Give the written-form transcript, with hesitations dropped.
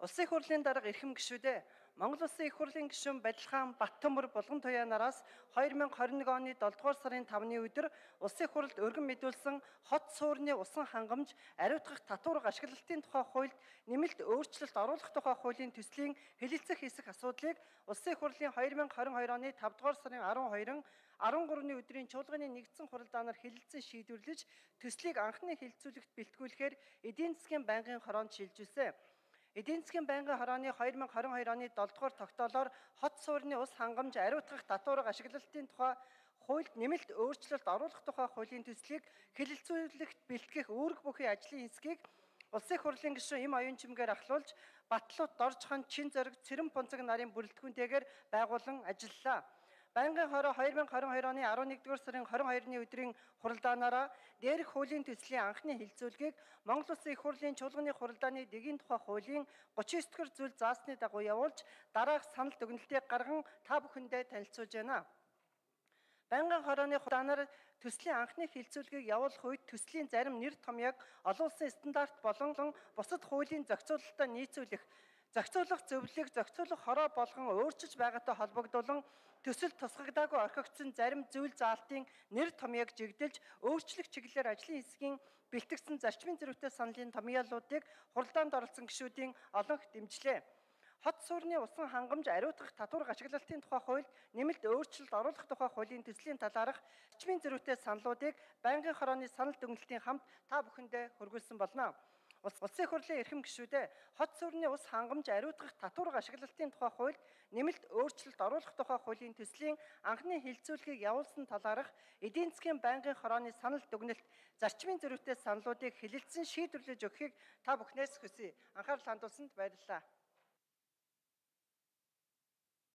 Улсын их хурлын дарга эрхэм гишүүдээ Монгол Улсын их хурлын гишүүн Бадилхан Баттөмөр Булган Туяанараас 2021 оны 7 дугаар сарын 5-ны өдөр Улсын их хурлд өргөн мэдүүлсэн хот суурны усан хангамж ариутгах татварга ашиглалтын тухай хуульд нэмэлт өөрчлөлт оруулах тухай хуулийн төслийн хэлэлцэх хэсэг асуудлыг Улсын их хурлын 2022 оны 5 дугаар сарын 12-н 13-ны өдрийн чуулганы нэгдсэн хуралдаанаар хэлэлцэн шийдвэрлэж төслийг анхны хэлэлцүүлэгт бэлтгүүлэхээр эдийн засгийн байнгын хороонд шилжүүлсэн. Эдийн засгийн байнгын хорооны 2022 оны 7 дугаар тогтоолоор хот суурны ус хангамж ариутгах татварга ашиглалтын тухай хуульд нэмэлт өөрчлөлт оруулах тухай хуулийн төслийг хэлэлцүүлэгт бэлтгэх үүрэг бүхий ажлын хэсгийг Улсын их хурлын гишүүн Им Оюун Чимгээр ахлуулж Батлууд, Доржхон, Чин зориг, Цэрэн Пунцаг нарын бүрэлдэхүүнтэйгээр байгуулан ажиллалаа. Байнгын хороо 2022 оны 11-р сарын 22-ны өдрийн хуралдаанаараа дээрх хуулийн төслийн анхны хэлэлцүүлгийг Монгол Улсын их хурлын чуулганы хуралдааны дэгийн тухай хуулийн 39-р зүйл заасны дагуу явуулж дараах санал дүгнэлтийг гарган та бүхэндээ танилцуулж байна. Байнгын хорооны хуралдаанаар төслийн анхны хэлэлцүүлгийг явуулах үед төслийн зарим нэр томьёог олон улсын стандарт болон бусад хуулийн зохицуулалтаа нийцүүлэх зохицуулах зөвлөлийг зохицуулах хороо болгон өөрчилж байгаатай холбогдуулан төсөл тусгагдаагүй орхигдсон зарим зүйл заалтын нэр томьёог жигдэлж өөрчлөх чиглэлээр ажлын хэсгийн бэлтгэсэн зарчмын зэрэгтэй саналын томьёолуудыг хуралдаанд оролцсон гишүүдийн олонх дэмжлээ. Хот суурны усан хангамж ариутгах татварга ашиглалтын тухай хуульд нэмэлт өөрчлөлт оруулах тухай хуулийн төслийн талаарх зарчмын зэрэгтэй саналуудыг байнгын хорооны санал дүгнэлтийн хамт та бүхэндээ хүргүүлсэн болно. Улсын их хурлын эрхэм гишүүдээ хот суурны ус хангамж ариутгах татварга ашиглалтын тухай хуульд нэмэлт өөрчлөлт оруулах тухай хуулийн төслийн анхны хэлэлцүүлгийг явуулсан талаарх эдийн засгийн байнгын хорооны санал дүгнэлт зарчмын зэрэгтэй саналуудыг хэлэлцэн шийдвэрлэж өгөхийг та бүхнээс хүсье. Анхаарал хандуулсанд баярлалаа.